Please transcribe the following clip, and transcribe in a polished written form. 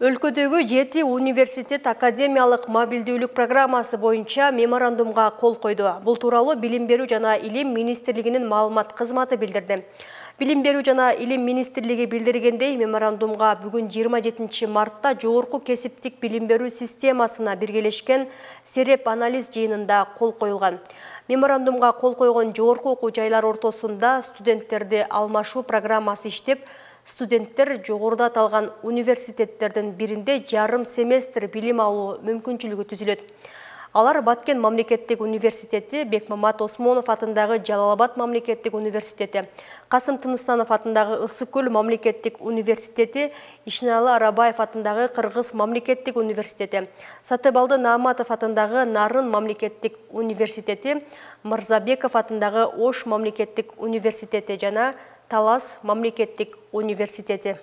Өлкөдөгү 7 университет академиялык мобилдүүлүк программасы боюнча меморандумга кол койду. Бул тууралуу Билим берүү жана Илим министрлигинин маалымат кызматы билдирди. Билим берүү жана Илим министрлиги билдиргендей, меморандумга бүгүн 27 мартта жогорку кесиптик билим берүү системасына биргелешкен сереп анализ жыйынында кол коюлган. Меморандумга кол койгон жогорку окуу жайлар ортосунда студенттерди алмашуу программасы иштеп, студенттер жогоруда аталган университеттердин биринде жарым семестр билим алуу мүмкүнчүлүгү түзүлөт. Алар Баткен мамлекеттик университети, Бекмамат Осмонов атындагы Жалал-Абад мамлекеттик университети, Касым Тыныстанов атындагы Ысык-Көл мамлекеттик университети, Ишеналы Арабаев атындагы Кыргыз мамлекеттик университети, Сатыбалды Нааматов атындагы Нарын мамлекеттик университети, Мырзабеков атындагы Ош мамлекеттик университети жана Талас мамлекеттик университети.